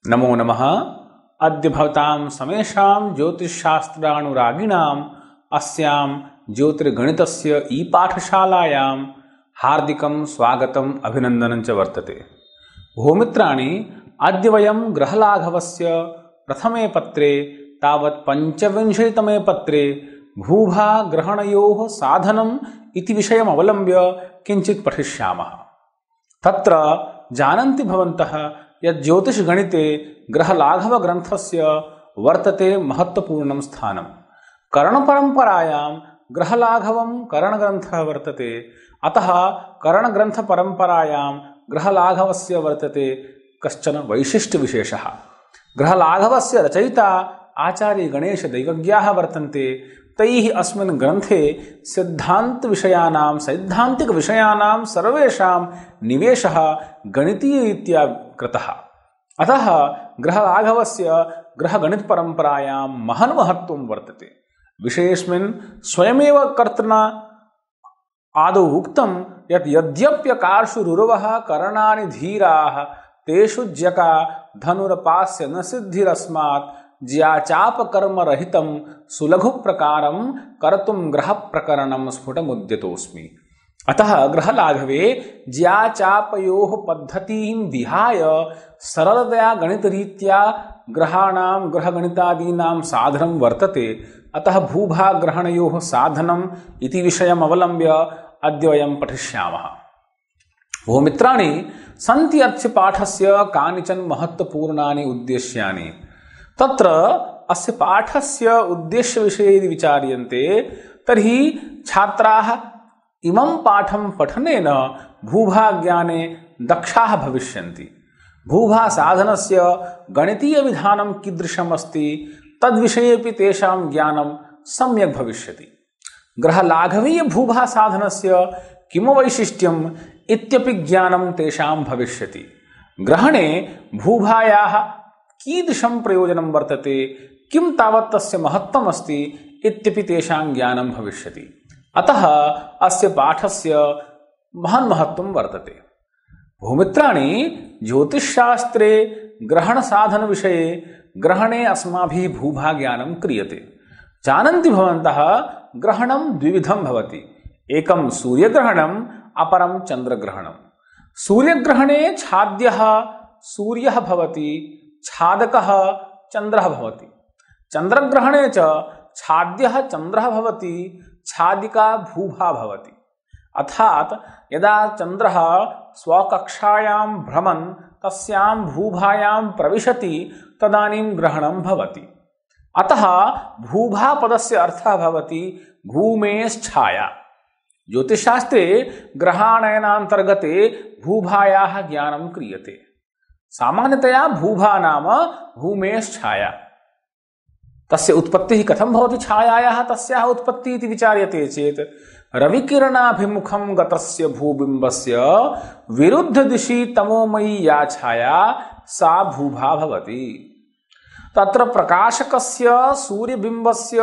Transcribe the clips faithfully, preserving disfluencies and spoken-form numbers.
नमो नमः। अद्य भवतां समेषां ज्योतिषशास्त्रानुरागिणाम् अस्यां ज्योतिर्गणितस्य ई पाठशालायां हार्दिकं स्वागतम् अभिनन्दनं च वर्तते। भूमित्राणि, अद्य वयं ग्रहलाघवस्य प्रथमे पत्रे तावत् पञ्चविंशतितमे पत्रे भूभाग्रहणयोः साधनम् इति विषयम् अवलम्ब्य किञ्चित् पठिष्यामः। तत्र जानन्ति भवन्तः यत् ज्योतिषगणिते ग्रहलाघवग्रन्थस्य वर्तते महत्त्वपूर्णं स्थानं। करणपरम्परायां ग्रहलाघवं करणग्रन्थः वर्तते, अतः करणग्रन्थपरम्परायां ग्रहलाघवस्य वर्तते कश्चन वैशिष्ट्यविशेषः। ग्रहलाघवस्य रचयिता आचार्यगणेशदैवज्ञाः वर्तन्ते। तैः अस्मिन् ग्रन्थे सिद्धान्तविषयाणां सैद्धान्तिकविषयाणां सर्वेषां निवेशः गणितीयरीत्या कृतः। अतः ग्रहलाघवस्य ग्रहगणितपरम्परायां महन् महत्त्वं वर्तते। विषयेऽस्मिन् स्वयमेव कर्तृना आदौ उक्तं यत् यद्यप्यकार्षु रुरवः करणानि धीराः तेषु ज्यका धनुरपास्य न सिद्धिरस्मात् ज्याचापकर्मरहितं सुलघुप्रकारं कर्तुं ग्रहप्रकरणं स्फुटमुद्यतोऽस्मि। अतः ग्रहलाघवे ज्याचापयोः पद्धतिं विहाय सरलतया गणितरीत्या ग्रहाणां ग्रहगणितादीनां साधनं वर्तते। अतः भूभाग्रहणयोः साधनम् इति विषयम् अवलम्ब्य अद्य वयं पठिष्यामः। भूमित्राणि, सन्ति अस्य पाठस्य कानिचन महत्त्वपूर्णानि उद्देश्यानि। तत्र अस्य पाठस्य उद्देश्यविषये यदि विचार्यन्ते तर्हि छात्राः इमं पाठं पठनेन भूभाज्ञाने दक्षाः भविष्यन्ति। भूभासाधनस्य गणितीयविधानं कीदृशम् अस्ति तद्विषयेपि तेषां ज्ञानं सम्यक् भविष्यति। ग्रहलाघवीयभूभासाधनस्य किं वैशिष्ट्यम् इत्यपि ज्ञानं तेषां भविष्यति। ग्रहणे भूभायाः कीदृशं प्रयोजनं वर्तते, किं तावत् तस्य महत्त्वम् अस्ति इत्यपि तेषां ज्ञानं भविष्यति। अतः अस्य पाठस्य महन् महत्त्वं वर्तते। भूमित्राणि, ज्योतिषशास्त्रे ग्रहणसाधनविषये ग्रहणे अस्माभिः भूभाज्ञानं क्रियते। जानन्ति भवन्तः ग्रहणं द्विविधं भवति। एकं सूर्यग्रहणम्, अपरं चन्द्रग्रहणं। सूर्यग्रहणे छाद्यः सूर्यः भवति, छादकः चन्द्रः भवति। चन्द्रग्रहणे च छाद्यः चन्द्रः भवति, छादिका भूभा भवति। अर्थात् यदा चन्द्रः स्वकक्षायां भ्रमन् तस्यां भूभायां प्रविशति तदानीं ग्रहणं भवति। अतः भूभापदस्य अर्थः भवति भूमेश्छाया। ज्योतिषशास्त्रे ग्रहाणयनान्तर्गते भूभायाः ज्ञानं क्रियते। सामान्यतया भूभा नाम भूमेश्छाया। तस्य उत्पत्तिः कथं भवति छायायाः तस्याः उत्पत्तिः इति विचार्यते चेत् रविकिरणाभिमुखं गतस्य भूबिम्बस्य विरुद्धदिशि तमोमयी या छाया सा भूभा भवति। तत्र प्रकाशकस्य सूर्यबिम्बस्य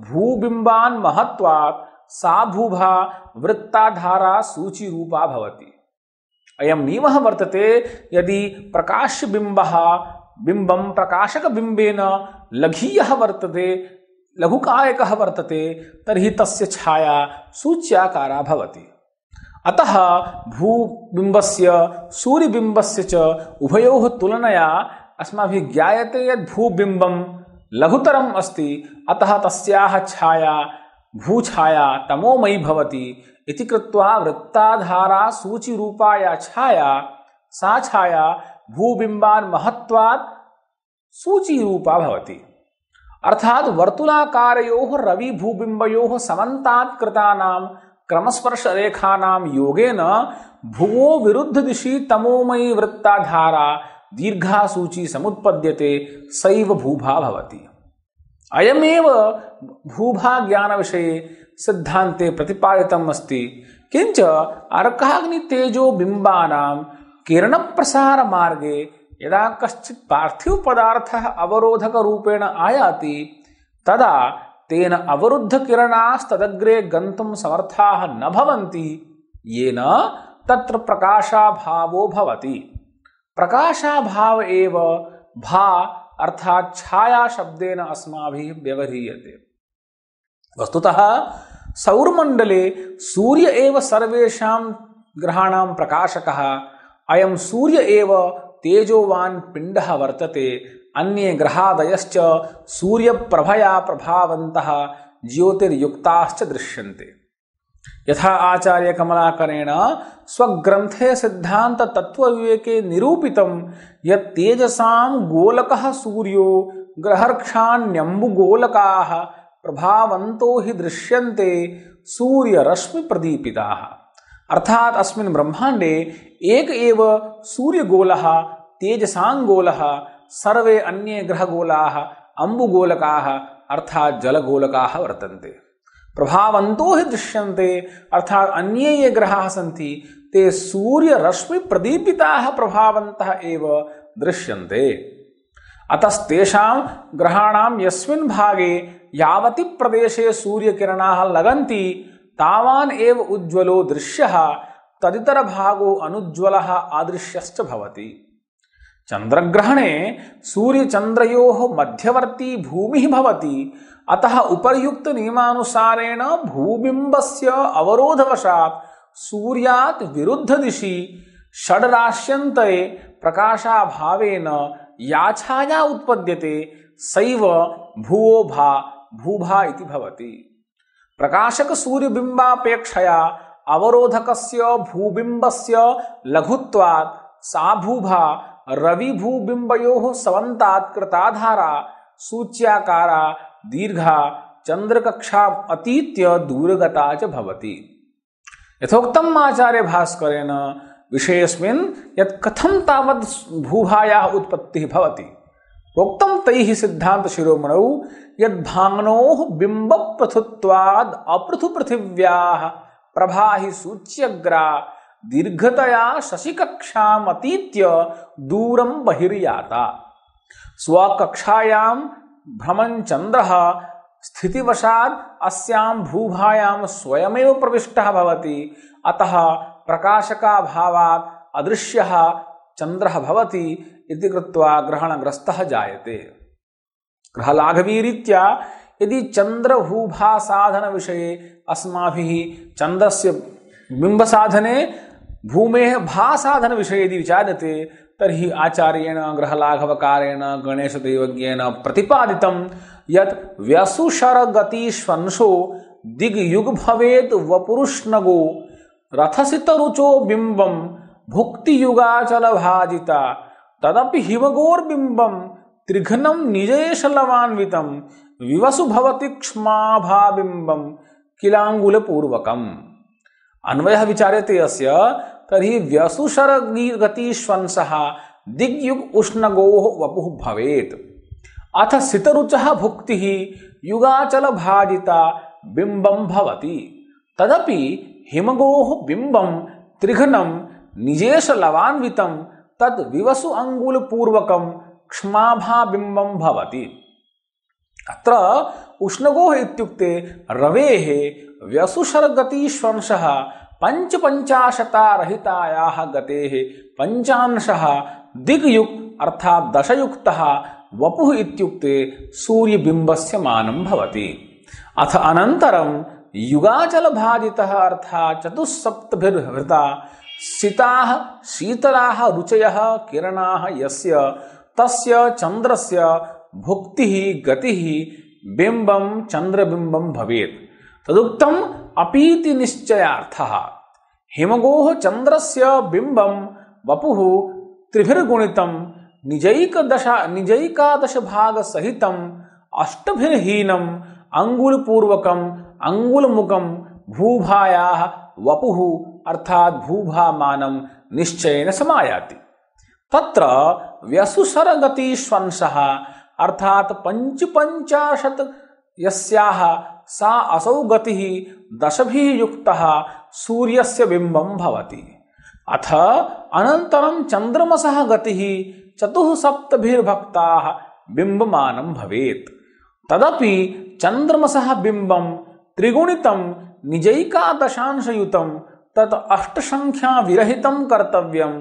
भूबिम्बान् महत्वात् सा भूभा वृत्ताधारा सूचिरूपा भवति। अयं नियमः वर्तते, यदि प्रकाशबिम्बः बिम्बं प्रकाशकबिम्बेन लघीयः वर्तते, लघुकायकः वर्तते, तर्हि तस्य छाया सूच्याकारा भवति। अतः भूबिम्बस्य सूर्यबिम्बस्य च उभयोः तुलनया अस्माभिः ज्ञायते यत् भूबिम्बं लघुतरम् अस्ति, अतः तस्याः छाया भूछाया तमोमयी भवति इति कृत्वा वृत्ताधारा सूचिरूपा या छाया सा छाया भूबिम्बान् महत्वात् सूचिरूपा भवति। अर्थात् वर्तुलाकारयोः रविभूबिम्बयोः समन्तात् कृतानां क्रमस्पर्शरेखानां योगेन भुवो विरुद्धदिशि तमोमयी वृत्ताधारा दीर्घा सूची समुत्पद्यते, सैव भूभा भवति। अयमेव भूभाज्ञानविषये सिद्धान्ते प्रतिपादितम् अस्ति। किञ्च अर्काग्नितेजोबिम्बानां किरणप्रसारमार्गे यदा कश्चित् पार्थिवपदार्थः अवरोधकरूपेण आयाति तदा तेन अवरुद्धकिरणास्तदग्रे गन्तुं समर्थाः न भवन्ति, येन तत्र प्रकाशाभावो भवति। प्रकाशाभाव एव भा अर्थात छाया शब्देन अस्माभिः व्यवह्रियते। वस्तुतः सौरमण्डले सूर्य एव सर्वेषां ग्रहाणां प्रकाशकः। अयं सूर्य एव तेजोवान् पिण्डः वर्तते। अन्ये ग्रहादयश्च सूर्यप्रभया प्रभावन्तः ज्योतिर्युक्ताश्च दृश्यन्ते। यथा आचार्य कमलाकरेण स्वग्रन्थे सिद्धान्त तत्त्वविवेके निरूपितं यत् तेजसां गोलकः सूर्यो ग्रहर्क्षाण्यम्बुगोलकाः प्रभावन्तो हि दृश्यन्ते सूर्यरश्मि प्रदीपिताः। अर्थात अस्मिन् ब्रह्माण्डे एक एव सूर्यगोलः तेजसाङ्गोलः, सर्वे अन्ये ग्रहगोलाः अम्बुगोलकाः अर्थात जलगोलकाः वर्तन्ते। प्रभावन्तो हि दृश्यन्ते अर्थात अन्ये ये ग्रहाः सन्ति ते सूर्यरश्मि प्रदीपिताः प्रभावन्तः एव दृश्यन्ते। अतस्तेषां ग्रहाणां यस्मिन् भागे यावति प्रदेशे सूर्यकिरणाः लगन्ति तावान् एव उज्ज्वलो दृश्यः, तदितरभागो अनुज्ज्वलः अदृश्यश्च भवति। चन्द्रग्रहणे सूर्यचन्द्रयोः मध्यवर्ती भूमिः भवति। अतः उपर्युक्त नियमानुसारेण भूबिम्बस्य अवरोधवशात् सूर्यात् विरुद्ध दिशि षड्राश्यन्तरे प्रकाशाभावेन या छाया उत्पद्यते सैव भुवो भा भूभा इति भवति। प्रकाशक सूर्यबिम्बापेक्षया अवरोधकस्य भूबिम्बस्य लघुत्वात् सा भूभा रविभूबिम्बयोः समन्तात् कृताधारा सूच्याकारा दीर्घा चंद्रकक्षा अतीत्य दूरगता च भवति। यथोक्तम् आचार्य भास्करेण विषयेऽस्मिन् यत् कथं तावत् भूभायाः उत्पत्तिः भवति प्रोक्तं तैः सिद्धान्त शिरोमणौ यद्भाङ्नोः बिम्बपृथुत्वाद् अपृथुपृथिव्याः प्रभा हि सूच्यग्रा दीर्घतया शशिकक्षाम् अतीत्य दूरं बहिर्याता। स्वकक्षायां भ्रमन् चन्द्रः स्थितिवशात् अस्यां भूभायां स्वयमेव प्रविष्टः भवति। अतः प्रकाशकाभावात् अदृश्यः चन्द्रः भवति इति कृत्वा ग्रहणग्रस्तः जायते। ग्रहलाघवीरीत्या यदि चन्द्रभूभासाधन विषये अस्माभिः चन्द्रस्य बिम्बसाधने भूमेः भासाधन विषये यदि विचार्यते तर्हि आचार्येण ग्रहलाघवकारेण गणेशदेवज्ञेन प्रतिपादितं यत् व्यसुशरगतिष्वंशो दिग्युग भवेत् वपुरुष्णगो रथसितरुचो बिम्बं भुक्तियुगाचलभाजिता तदपि हिमगोर्बिम्बं त्रिघ्नं निजेशलवान्वितं विवसु भवति क्ष्माभाबिम्बं किलाङ्गुलपूर्वकम्। अन्वयः विचार्यते अस्य तर्हि व्यसुशरगतिष्वंशः दिग्युग उष्णगोः वपुः भवेत्। अथ सितरुचः भुक्तिः युगाचलभाजिता बिम्बं भवति। तदपि हिमगोः बिम्बं त्रिघ्नं निजेशलवान्वितं तद् विवसु अंगुलपूर्वकं क्ष्माभाबिम्बं भवति। अत्र उष्णगोः इत्युक्ते रवेः व्यसुशरगतिष्वंशः पंचपञ्चाशतारहितायाः गतेः पंचांशः दिग्युक् अर्थात् दशयुक्तः वपुः इत्युक्ते सूर्यबिम्बस्य मानं भवति। अथ अनन्तरं युगाचलभाजितः अर्थात् चतुस्सप्तभिर्हृता सिताः शीतलाः रुचयः किरणाः यस्य तस्य चन्द्रस्य भुक्तिः गतिः बिम्बं चन्द्रबिम्बं भवेत्। तदुक्तम् अपीति निश्चयार्थः। हिमगोः चन्द्रस्य बिम्बं वपुः त्रिभिर्गुणितं निजैकदश निजैकादशभागसहितम् अष्टभिर्हीनम् अंगुलपूर्वकम् अंगुलमुखं भूभायाः वपुः अर्थात् भूभामानं निश्चयेन समायाति। तत्र व्यसुशरगतिष्वंशः अर्थात् पंचपञ्चाशत् यस्याः सा असौ गतिः दशभिः युक्तः सूर्यस्य बिम्बं भवति। अथ अनन्तरं चन्द्रमसः गतिः चतुःसप्तभिर्भक्ताः बिम्बमानं भवेत्। तदपि चन्द्रमसः बिम्बं त्रिगुणितं निजैकादशांशयुतं तत् अष्टसंख्या विरहितं कर्तव्यं।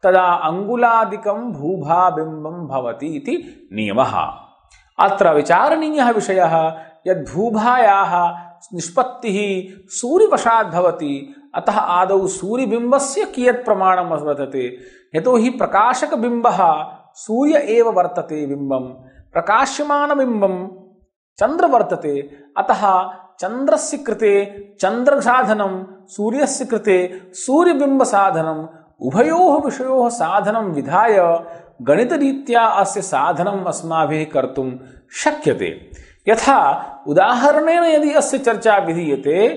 तदा अंगुलादिकं भूभाबिम्बं भवति इति नियमः। अत्र विचारणीयः विषयः यद् भूभायाः निष्पत्तिः सूर्यवशात् भवति, अतः आदौ सूर्यबिम्बस्य कियत् प्रमाणं वर्तते। यतोहि प्रकाशकबिम्बः सूर्य एव वर्तते, बिम्बं प्रकाश्यमानबिम्बं चंद्र वर्तते, अतः चंद्रस्य कृते चंद्रसाधनं, सूर्यस्य कृते सूर्यबिम्बसाधनम्, उभयोः विषयोः साधनं विधाय गणितरीत्या अस्य साधनम् अस्माभिः कर्तुं शक्यते। यथा उदाहरणेन यदि अस्य चर्चा विधीयते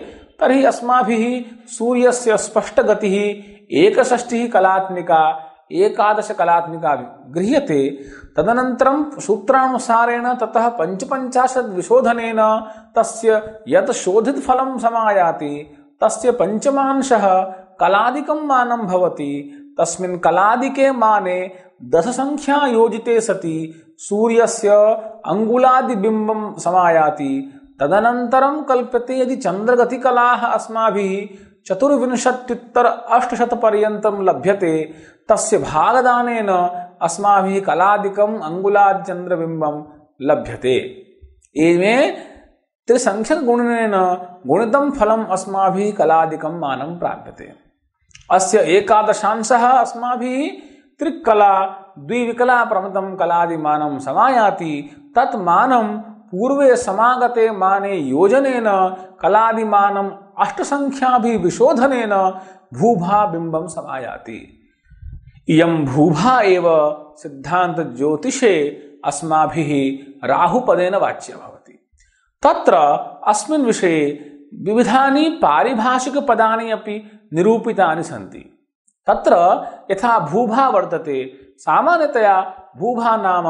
तर्हि अस्माभिः सूर्यस्य स्पष्टगतिः एकषष्टिः कलात्मिका एकादश कलात्मिका गृह्यते। तदनन्तरं सूत्रानुसारेण ततः पञ्चपञ्चाशत् विशोधनेन तस्य यत् शोधितफलं समायाति तस्य पञ्चमांशः कलादिकं मानं भवति। तस्मिन् कलादिके माने दशसंख्या योजिते सति सूर्यस्य अंगुलादिबिम्बं समायाति। तदनन्तरं कल्प्यते यदि चन्द्रगतिकलाः अस्माभिः चतुर्विंशत्युत्तर अष्टशतपर्यन्तं लभ्यते, तस्य भागदानेन अस्माभिः कलादिकम् अंगुलादिचन्द्रबिम्बं लभ्यते। एवं त्रिसंख्यकगुणनेन गुणितं फलम् अस्माभिः कलादिकं मानं प्राप्यते। अस्य एकादशांशः अस्माभिः त्रिकला द्विविकला प्रमतं कलादिमानं समायाति। तत् मानं पूर्वे समागते माने योजनेन कलादिमानम् अष्टसंख्याभिः विशोधनेन भूभाबिम्बं समायाति। इयं भूभा एव सिद्धांत ज्योतिषे अस्माभिः राहुपदेन वाच्या भवति। तत्र अस्मिन् विषये विविधानि पारिभाषिकपदानि अपि निरूपितानि सन्ति। तत्र यथा भूभा वर्तते, सामान्यतया भूभा नाम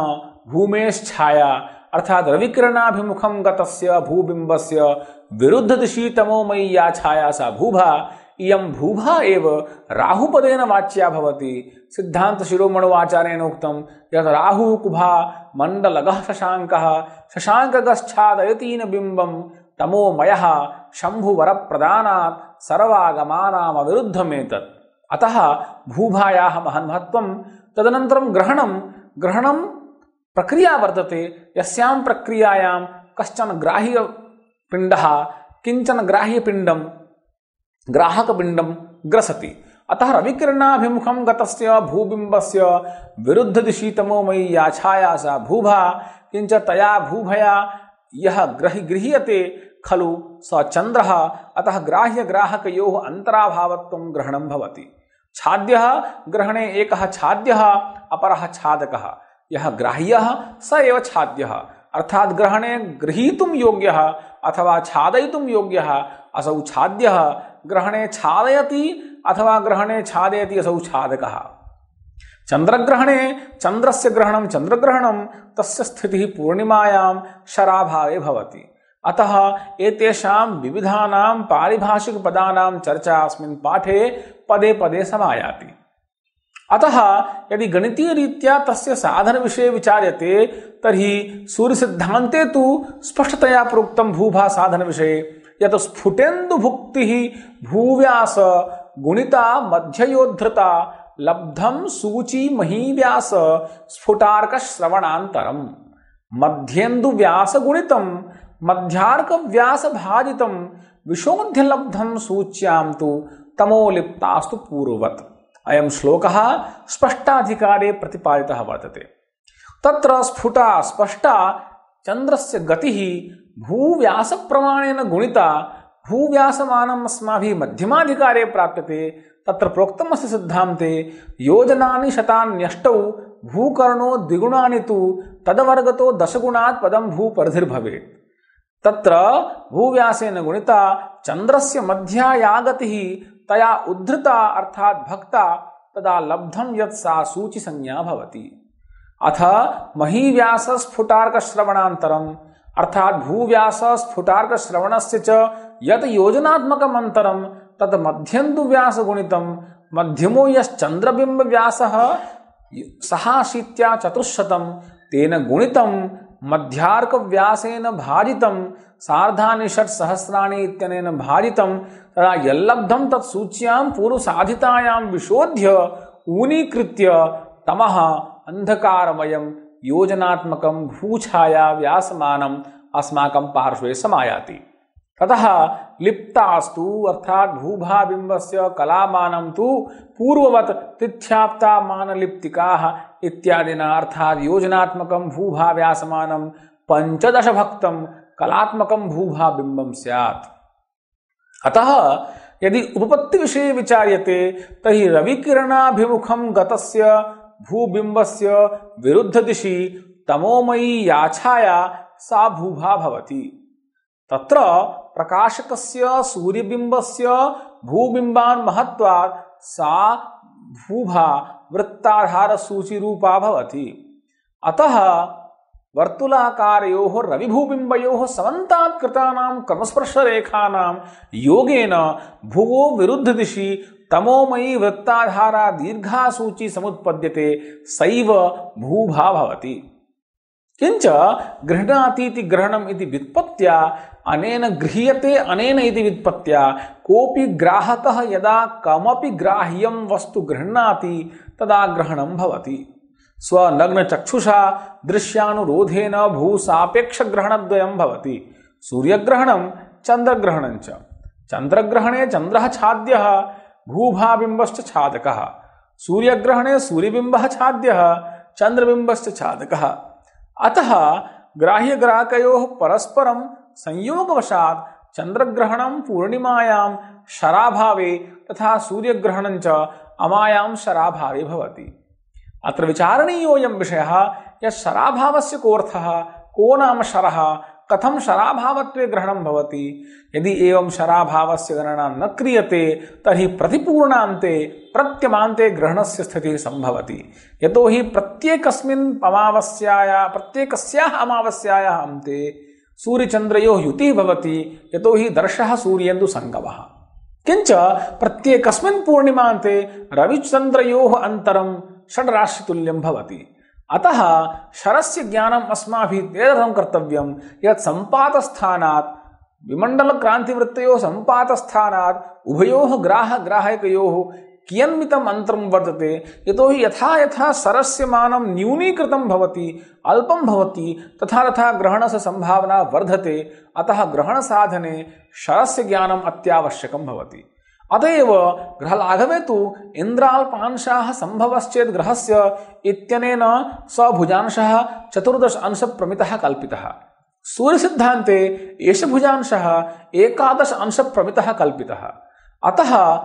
भूमेश्छाया अर्थात रविकिरणाभिमुखं गतस्य भूबिम्बस्य विरुद्धदिशि तमोमयी या छाया सा भूभा। इयं भूभा एव राहुपदेन वाच्या भवति। सिद्धांत शिरोमणोआचार्येण उक्तं यत् राहुः कुभा मण्डलगः शशाङ्कः शशाङ्कगश्छादयतीन बिम्बं तमोमयः शम्भुवरप्रदानात् सर्वागमानामविरुद्धमेतत्। अतः भूभायाः महन् महत्त्वं। तदनन्तरं ग्रहणं ग्रहणं प्रक्रिया वर्तते, यस्यां प्रक्रियायां कश्चन ग्राह्यपिण्डः किञ्चन ग्राह्यपिण्डं ग्राहकपिण्डं ग्रसति। अतः रविकिरणाभिमुखं गतस्य भूबिम्बस्य विरुद्धदिशि तमोमयी या छाया सा भूभा। किञ्च तया भूभया यः ग्रहि गृह्यते खलु स चन्द्रः। अतः ग्राह्यग्राहकयोः अन्तराभावत्वं ग्रहणं भवति। छाद्यः ग्रहणे एकः छाद्यः अपरः छादकः। यः ग्राह्यः स एव छाद्यः, अर्थात ग्रहणे गृहीतुं योग्यः अथवा छादयितुं योग्यः असौ छाद्यः। ग्रहणे छादयति अथवा ग्रहणे छादयति असौ छादकः। चंद्रग्रहणे चंद्रस्य ग्रहणं चंद्रग्रहणं तस्य स्थितिः पूर्णिमायां शराभावे भवति। अतः एतेषां विविधानां पारिभाषिकपदानां चर्चा अस्मिन् पाठे पदे पदे समायाति। अतः यदि गणितीयरीत्या तस्य साधनविषये विचार्यते तर्हि सूर्यसिद्धान्ते तु स्पष्टतया प्रोक्तं भूभा साधनविषये यत् स्फुटेन्दुभुक्तिः भूव्यास गुणिता मध्ययोद्धृता लब्धं सूची महीव्यास स्फुटार्क श्रवणान्तरं मध्येन्दुव्यास गुणितं मध्यार्क व्यास भाजितं विशोध्य लब्धं सूच्यां तु तमोलिप्तास्तु पूर्ववत्। अयं श्लोकः स्पष्टाधिकारे प्रतिपादितः वर्तते। तत्र स्फुटा स्पष्टा चन्द्रस्य गतिः भूव्यासप्रमाणेन गुणिता भूव्यासमानम् अस्माभिः मध्यमाधिकारे प्राप्यते। तत्र प्रोक्तमस्य सिद्धान्ते योजनानि शतान्यष्टौ भूकर्णो द्विगुणानि तु तदवर्गतो दशगुणात् पदं भूपरिधिर्भवेत्। तत्र भूव्यासेन गुणिता चन्द्रस्य मध्या या गतिः तया उद्धृता अर्थात भक्ता तदा लब्धं यत् सा सूचि संज्ञा भवति। अथ महीव्यास स्फुटार्क श्रवणान्तरम् अर्थात भूव्यास स्फुटार्क श्रवणस्य च यत् योजनात्मकम् अन्तरं तत् मध्येन्दुव्यास गुणितं मध्यमो यश्चन्द्रबिम्ब व्यासः सहाशीत्या चतुश्शतं तेन गुणितं मध्यार्क व्यासेन भाजितं सार्धानि षट् सहस्राणि इत्यनेन भाजितं तदा यल्लब्धं तत् सूच्यां पूर्वसाधितायां विशोध्य ऊनीकृत्य तमः अंधकारमयं योजनात्मकं भूछाया व्यासमानम् अस्माकं पार्श्वे समायाति। ततः लिप्तास्तु अर्थात भूभाबिंबस्य कलामानं तु पूर्ववत् तिथ्याप्ता मानलिप्तिकाः इत्यादिना अर्थात योजनात्मकं भूभाव्यासमानं पंचदश भक्तं कलात्मकं भूभाबिंबं स्यात्। अतः यदि उपपत्ति विषये विचार्यते तर्हि रविकिरणाभिमुखं गतस्य भूबिंबस्य विरुद्ध दिशि तमोमयी या छाया सा भूभा भवति। तत्र प्रकाशकस्य सूर्यबिंबस्य भूबिंबान् महत्वात् सा भूभा वृत्ताधार सूचिरूपा भवति। अतः वर्तुलाकारयोः रविभूबिंबयोः समन्तात् कृतानां क्रमस्पर्शरेखानां योगेन भुवो विरुद्ध दिशि तमोमयी वृत्ताधारा दीर्घा सूची समुत्पद्यते, सैव भूभा भवति। किंच गृह्णातीति ग्रहणम् इति व्युत्पत्त्या अनेन गृह्यते अनेन इति व्युत्पत्त्या कोऽपि ग्राहकः यदा कमपि ग्राह्यं वस्तु गृह्णाति तदा ग्रहणं भवति। स्वनग्नचक्षुषा दृश्यानुरोधेन भूसापेक्षग्रहणद्वयं भवति। सूर्यग्रहणं चन्द्रग्रहणं च। चन्द्रग्रहणे चन्द्रः छाद्यः भूभाबिम्बश्च छादकः, सूर्यग्रहणे सूर्यबिम्बः छाद्यः चन्द्रबिम्बश्च छादकः। अतः ग्राह्यग्राहकयोः परस्परं संयोगवशात् चन्द्रग्रहणं पूर्णिमायां शराभावे तथा सूर्यग्रहणं च अमायां शराभावे भवति। अत्र विचारणीयोऽयं विषयः यत् शराभावस्य कोऽर्थः, को नाम शरः, कथं शराभावत्वे ग्रहणं भवति। यदि एवं शराभावस्य गणना न क्रियते तर्हि प्रतिपूर्णान्ते प्रत्यमान्ते ग्रहणस्य स्थितिः संभवति। यतो हि प्रत्येकस्मिन् अमावास्यायाः प्रत्येकस्याः अमावास्यायाः अन्ते सूर्यचन्द्रयोः युतिः भवति, यतो हि दर्शः सूर्येन्दुसङ्गमः। किंच प्रत्येकस्मिन् पूर्णिमान्ते रविचन्द्रयोः अन्तरं षड्राशितुल्यं भवति। अतः शरस्य ज्ञानम् अस्माभिः तेन कर्तव्यं यत् सम्पातस्थानात् विमण्डलक्रान्तिवृत्तयोः सम्पातस्थानात् उभयोः ग्राहग्राहकयोः कियन्मितम् अन्तरं वर्तते। यतो हि यथा यथा शरस्य मानं न्यूनीकृतं भवति, अल्पं भवति, तथा तथा ग्रहणस्य सम्भावना वर्धते। अतः ग्रहणसाधने शरस्य ज्ञानम् अत्यावश्यकं भवति। अतएव ग्रहलाघवे तु इन्द्राल्पांशाः सम्भवश्चेत् ग्रहस्य इत्यनेन स भुजांशः चतुर्दश अंशप्रमितः कल्पितः। सूर्यसिद्धान्ते एष भुजांशः एकादश अंशप्रमितः कल्पितः। अतः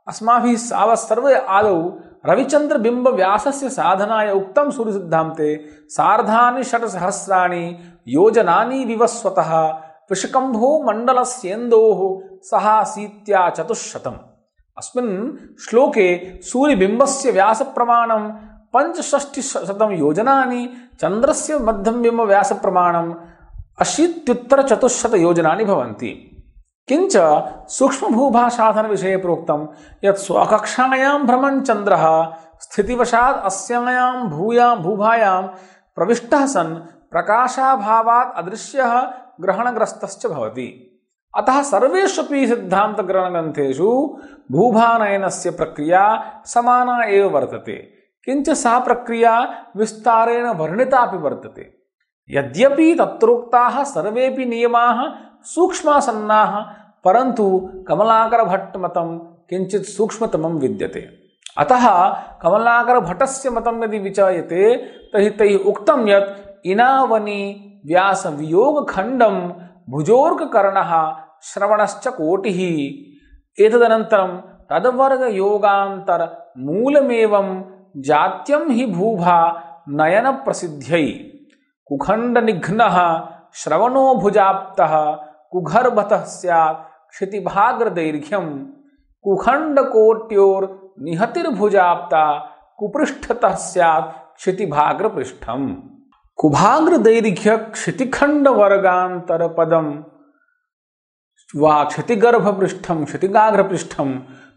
अस्माभिः सावत् सर्वे आदौ रविचन्द्रबिम्बव्यासस्य साधनाय उक्तं सूर्यसिद्धान्ते सार्धानि षट्सहस्राणि योजनानि विवस्वतः विषकम्भो मण्डलस्येन्दोः सहासीत्या चतुश्शतम्। अस्मिन् श्लोके सूर्यबिम्बस्य व्यासप्रमाणं पञ्चषष्टिशतं योजनानि, चन्द्रस्य मध्यमबिम्बव्यासप्रमाणं अशीत्युत्तरचतुश्शतयोजनानि भवन्ति। किंच सूक्ष्मभूभासाधनविषये प्रोक्तं यत् स्वकक्षायां भ्रमन् चन्द्रः स्थितिवशात् अस्यायां भूयां भूभायां प्रविष्टः सन् प्रकाशाभावात् अदृश्यः ग्रहणग्रस्तश्च भवति। अतः सर्वेष्वपि सिद्धान्तग्रहणग्रन्थेषु भूभानयनस्य प्रक्रिया समाना एव वर्तते। किंच सा प्रक्रिया विस्तारेण वर्णितापि वर्तते। यद्यपि तत्रोक्ताः सर्वेपि नियमाः सूक्ष्मासन्नाः, परन्तु कमलाकरभट्टमतं किञ्चित् सूक्ष्मतमं विद्यते। अतः कमलाकरभट्टस्य मतं यदि विचार्यते तर्हि तैः उक्तं यत् इनावनी व्यासवियोगखण्डं भुजोर्ककर्णः श्रवणश्च कोटिः। एतदनन्तरं तद्वर्गयोगान्तरमूलमेवं जात्यं हि भूभा नयनप्रसिद्ध्यै कुखण्डनिघ्नः श्रवणो भुजाप्तः कुघर्भतः स्यात् क्षितिभाग्रदैर्घ्यं कुखण्डकोट्योर्निहतिर्भुजाप्ता कुपृष्ठतः स्यात् क्षितिभाग्रपृष्ठम्। कुभाग्रदैर्घ्य क्षितिखण्डवर्गान्तरपदं वा क्षितिगर्भपृष्ठं क्षितिगाग्रपृष्ठं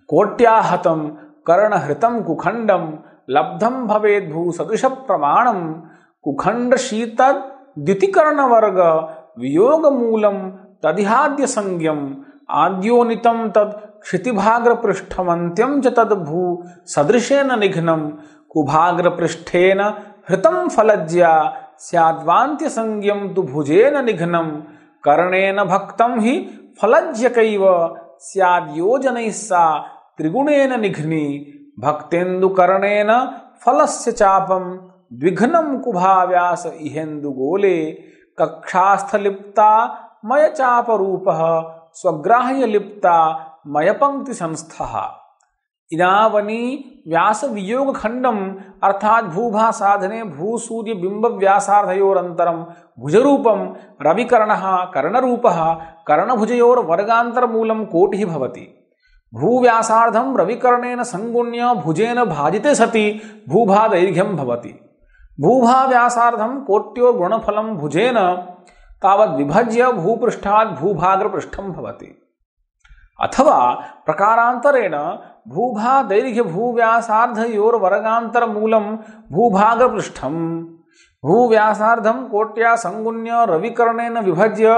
कोट्याहतं कर्णहृतं कुखण्डं लब्धं भवेद्भूसदृशप्रमाणं कुखण्डशीतद्युतिकर्णवर्ग वियोगमूलं तदिहाद्यसंज्ञम् आद्योनितं तत् क्षितिभाग्रपृष्ठमन्त्यं च तद्भू सदृशेन निघ्नं कुभाग्रपृष्ठेन हृतं फलज्या स्याद्वान्त्यसंज्ञं तु भुजेन निघ्नं कर्णेन भक्तं हि फलज्यकैव स्याद्योजनैः सा त्रिगुणेन निघ्नी भक्तेन्दुकर्णेन फलस्य चापं द्विघ्नं कुभाव्यास इहेन्दुगोले कक्षास्थलिप्ता मयचापरूपः स्वग्राह्यलिप्ता मयपङ्क्तिसंस्थः। इदावनी व्यास वियोग खंडम अर्थात भूभा साधने भूसूर्य बिंब व्यासार्धयोरंतरम भुजरूपम रविकर्णः कर्णरूपः कर्णभुजयोर वर्गांतर मूलम कोटिः भवति। भूव्यासार्धम रविकर्णेन संगुण्य भुजेन भाजिते सति भूभा दैर्घ्यं भवति। भूभा व्यासार्धम कोट्यो गुणफलम भुजेन तावद् विभज्य भूपृष्ठात् भूभाग्रपृष्ठं भवति। अथवा प्रकारांतरेण भूभा दैर्घ्य भूव्यासार्धयोर वर्गांतर मूलम भूभाग्रपृष्ठम भूव्यासार्धम कोट्या संगुण्य रविकर्णेन विभज्य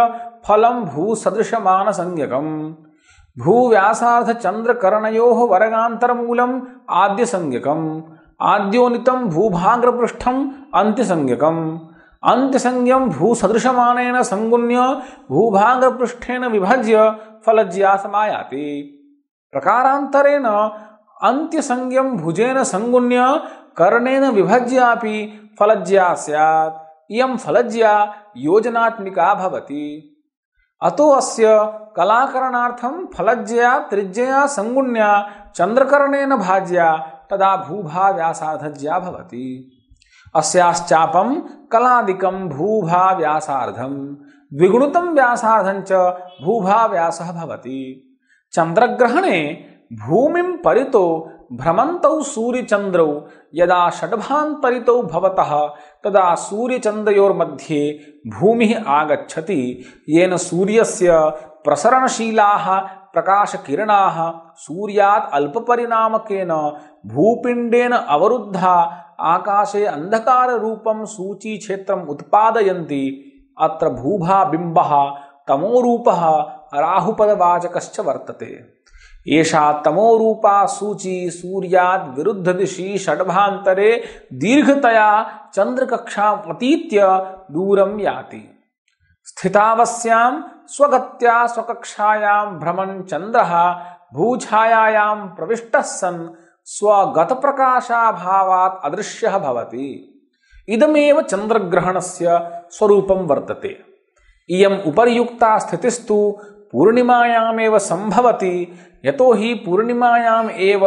फलम भूसदृशमान संज्ञकम भूव्यासार्ध चंद्रकर्णयोः वर्गांतर मूलम आद्य संज्ञकम आद्योनितम भूभाग्रपृष्ठम अंत्य संज्ञकम अंत्यसंज्ञं भूसदृशमानेन संगुण्य भूभाग्रपृष्ठेन विभज्य फलज्या समायाति। प्रकारांतरेण अंत्यसंज्ञं भुजेन संगुण्य कर्णेन विभज्यापि फलज्या स्यात्। इयं फलज्या योजनात्मिका भवति। अतो अस्य कलाकरणार्थं फलज्या त्रिज्यया संगुण्या चंद्रकर्णेन भाज्या तदा भूभा व्यासार्धज्या भवति। अस्याश्चापं कलादिकं भूभा व्यासार्धं द्विगुणितं व्यासार्धं च भूभा व्यासः भवति। चंद्रग्रहणे भूमिं परितो भ्रमन्तौ सूर्यचंद्रौ यदा षड्भान्तरितौ भवतः तदा सूर्यचंद्रयोर्मध्ये भूमिः आगच्छति येन सूर्यस्य प्रसरणशीलाः प्रकाशकिरणाः सूर्यात् अल्पपरिणामकेन भूपिण्डेन अवरुद्धा आकाशे अंधकार रूपं सूची क्षेत्रम् उत्पादयन्ति। अत्र भूभा बिंबः तमोरूपः राहुपदवाचकश्च वर्तते। एषा तमोरूपा सूची सूर्यात् विरुद्ध दिशि षड्भान्तरे दीर्घतया चंद्रकक्षाम् अतीत्य दूरं याति। स्थितावस्यां स्वगत्या स्वकक्षायां भ्रमन् चन्द्रः भूछायायां प्रविष्टः सन् स्वगतप्रकाशाभावात् अदृश्यः भवति। इदमेव चंद्रग्रहणस्य स्वरूपं वर्तते। इयम् उपर्युक्ता स्थितिस्तु पूर्णिमायामेव संभवति। यतो हि पूर्णिमायाम् एव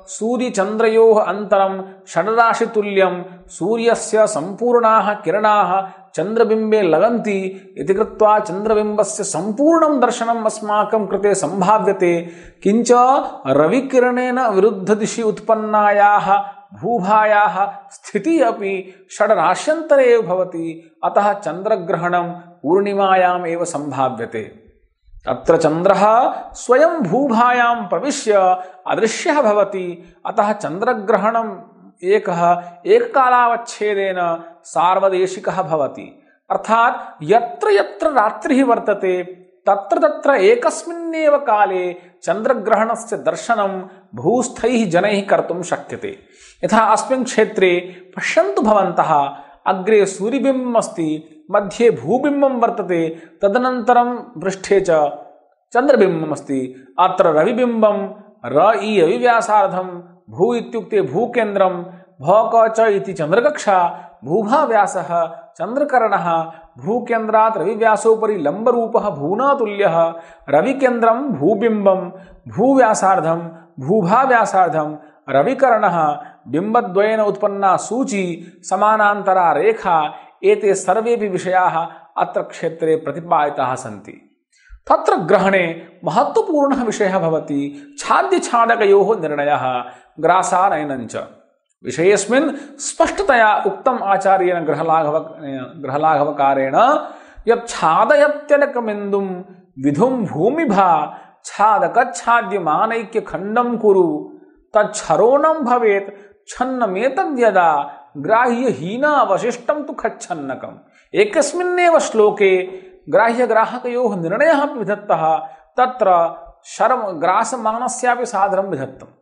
सूर्यचंद्रयोः अन्तरं षड्राशितुल्यं सूर्यस्य सम्पूर्णाः किरणाः चंद्रबिंबे लगन्ति इति कृत्वा चंद्रबिंबस्य संपूर्णं दर्शनम् अस्माकं कृते संभाव्यते। किंच रविकिरणेन विरुद्ध दिशि उत्पन्नायाः भूभायाः स्थितिः अपि षड्राश्यन्तरे एव भवति। अतः चंद्रग्रहणं पूर्णिमायाम् एव संभाव्यते। अत्र चंद्रः स्वयं भूभायां प्रविश्य अदृश्यः भवति। अतः चंद्रग्रहणम् एकः एककालावच्छेदेन सार्वदेशिकः भवति। अर्थात् यत्र यत्र रात्रिः वर्तते तत्र तत्र एकस्मिन्नेव काले चंद्रग्रहणस्य दर्शनं भूस्थैः जनैः कर्तुं शक्यते। यथा अस्मिन् क्षेत्रे पश्यन्तु भवन्तः, अग्रे सूर्यबिम्बम् अस्ति, मध्ये भूबिम्बं वर्तते, तदनन्तरं पृष्ठे च चंद्रबिम्बम् अस्ति। अत्र रविबिम्बं र इ रविव्यासार्धं भू इत्युक्ते भूकेन्द्रं भौक च इति चंद्रकक्षा भूभाव्यासः चंद्रकर्णः भूकेन्द्रात् रविव्यासोपरि लंबरूपः भूनातुल्यः रविकेन्द्रं भूबिम्बं भूव्यासार्धं भूभाव्यासार्धं रविकर्णः बिंबद्वयेन उत्पन्ना सूची समानान्तरा रेखा एते सर्वेपि विषयाः अत्र क्षेत्रे प्रतिपादिताः सन्ति। तत्र ग्रहणे महत्वपूर्णः विषयः भवति छाद्यछादकयोः निर्णयः ग्रासानयनञ्च। विषयेऽस्मिन् स्पष्टतया उक्तम् आचार्येण गृहलाघव गृहलाघवकारेण यत् छादयत्यनकमिन्दुं विधुं भूमिभा छादकच्छाद्यमानैक्य खण्डं कुरु तच्छरोणं भवेत् छन्नमेतद्यदा ग्राह्यहीनावशिष्टं तु खच्छन्नकम्। एकस्मिन्नेव श्लोके ग्राह्यग्राहकयोः निर्णयः विधत्तः। तत्र शर्म ग्रासमानस्यापि सादरं विधत्तम्।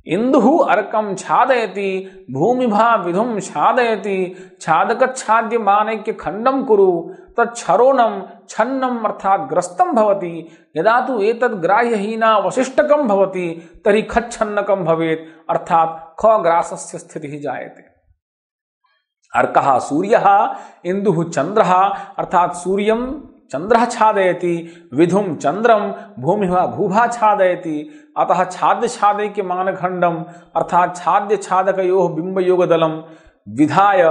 इंदुः अर्कं छादयति भूमिभा विधुं छादयति छादकच्छाद्य मानैक्य खंडं कुरु तच्छरोणं छन्नम् अर्थात् ग्रस्तं भवति। यदा तु एतद् ग्राह्यहीना वशिष्टकं भवति तर्हि खच्छन्नकं भवेत् अर्थात् खग्रासस्य स्थितिः जायते। अर्कः सूर्यः इंदुः चंद्रः अर्थात् सूर्यं चंद्रः छादयति विधुं चंद्रम भूमिः भूभा छादयति। अतः छाद्य छादैक्य मानखंडम अर्थात छाद्य छादकयोः बिंबयोगदलम विधाय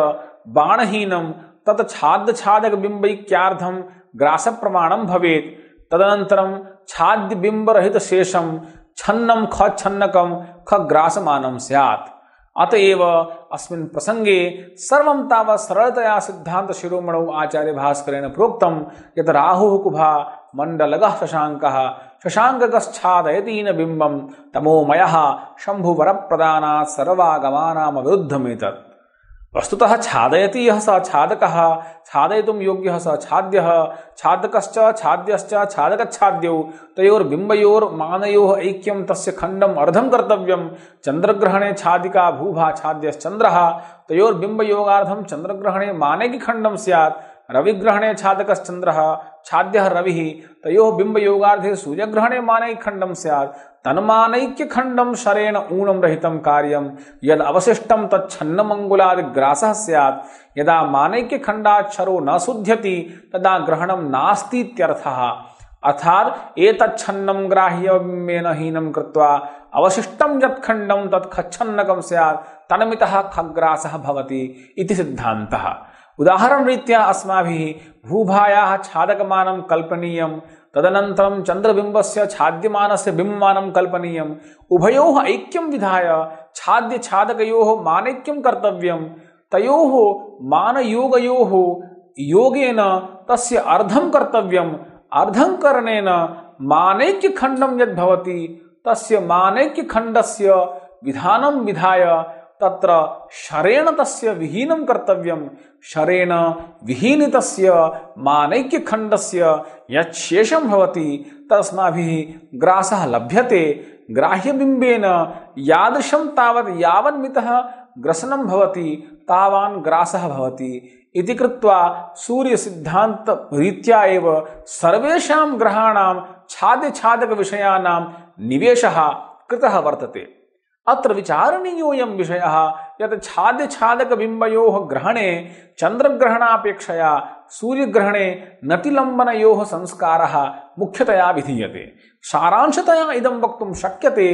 बाणहीनम तत् छाद्य छादक बिंबैक्यार्थम ग्रास प्रमाणम भवेत्। तदनन्तरम छाद्य बिंब रहित शेषम छन्नम ख छन्नकम ख ग्रासमानम स्यात्। अतएव अस्मिन् प्रसंगे सर्वं तावत् सरलतया सिद्धांत शिरोमणौ आचार्य भास्करेण प्रोक्तं यत् राहुः कुभा मंडलगः शशांकः शशांकगश्छादयतीन बिंबं तमोमयः शंभुवरप्रदानात् सर्वागमानां विरुद्धमेतत्। वस्तुतः छादयति यः स छादकः छादयितुं योग्यः स छाद्यः छादकश्च छाद्यश्च छादकच्छाद्यौ तयोर्बिंबयोर्मानयोः ऐक्यं तस्य खंडम् अर्धं कर्तव्यं। चंद्रग्रहणे छादिका भूभा छाद्यश्चंद्रः तयोर्बिंबयोगार्थं चंद्रग्रहणे मानैक्य खंडं स्यात्। रविग्रहणे छादकश्चंद्रः छाद्यः रविः तयोः बिंबयोगार्थे सूर्यग्रहणे मानैक्य खंडं स्यात्। तन्मानैक्य खंडं शरेण ऊणं रहितं कार्यं यद अवशिष्टं तच्छन्नमंगुलादिग्रासः स्यात्। यदा मानैक्य खंडात् शरो न शुध्यति तदा ग्रहणं नास्ति इत्यर्थः। अर्थात् एतच्छन्नं ग्राह्यबिंबेन हीनं कृत्वा अवशिष्टं यत् खंडं तत् खच्छन्नकं स्यात् तन्मितः खग्रासः भवति इति सिद्धान्तः। उदाहरण रीत्या अस्माभिः भूभायाः छादकमानं कल्पनीयं तदनन्तरं चंद्रबिंबस्य छाद्यमानस्य बिंबमानं कल्पनीयम्। उभयोः ऐक्यं विधाय छाद्य छादकयोः मानैक्यं कर्तव्यं। तयोः मानयोगयोः योगेन तस्य अर्धं कर्तव्यम्। अर्धं करणेन मानैक्य खंडं यद् भवति तस्य मानैक्य खंडस्य विधानं विधाय तत्र शरेण तस्य विहीनं कर्तव्यं। शरेण विहीनितस्य मानैक्य खंडस्य यत् शेषं भवति तस्माभिः ग्रासः लभ्यते। ग्राह्यबिंबेन यादृशं तावत् यावन्मितः ग्रसनं भवति तावान् ग्रासः भवति इति कृत्वा सूर्य सिद्धांत रीत्या एव सर्वेषां ग्रहाणां छाद्य छादक विषयाणां निवेशः कृतः वर्तते। अत्र विचारणीयोऽयं विषयः यत् छाद्य छादक बिंबयोः ग्रहणे चंद्रग्रहणापेक्षया सूर्यग्रहणे नतिलंबनयोः संस्कारः मुख्यतया विधीयते। सारांशतया इदं वक्तुं शक्यते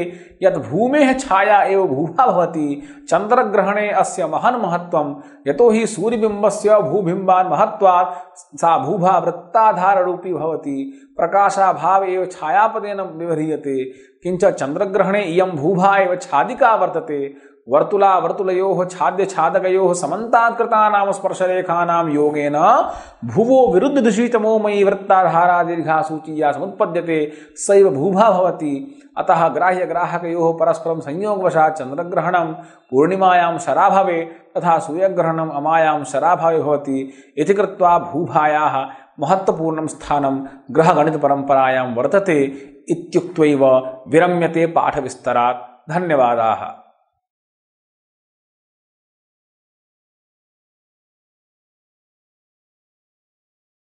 यत् भूमेः छाया एव भूभा भवति। चंद्रग्रहणे अस्य महन् महत्त्वं यतो हि सूर्यबिंबस्य भूबिंबान् महत्त्वात् सा भूभा वृत्ताधाररूपी भवति। प्रकाशाभाव एव छायापदेन व्यवह्रियते। किंच चंद्रग्रहणे इयं भूभा एव छादिका वर्तते। वर्तुला वर्तुलयोः छाद्य छादकयोः समन्तात्कृतानां स्पर्शरेखानां योगेन भुवो विरुद्धदिशि तमोमयी वृत्ताधारा दीर्घा सूचीया समुत्पद्यते सैव भूभा भवति। अतः ग्राह्य ग्राहकयोः परस्परं संयोगवशात् चंद्रग्रहणं पूर्णिमायां शराभावे तथा सूर्यग्रहणम् अमायां शराभावे भवति इति कृत्वा भूभायाः महत्त्वपूर्णं स्थानं ग्रहगणितपरम्परायां वर्तते इत्युक्त्वैव विरम्यते पाठविस्तरात्। धन्यवादाः।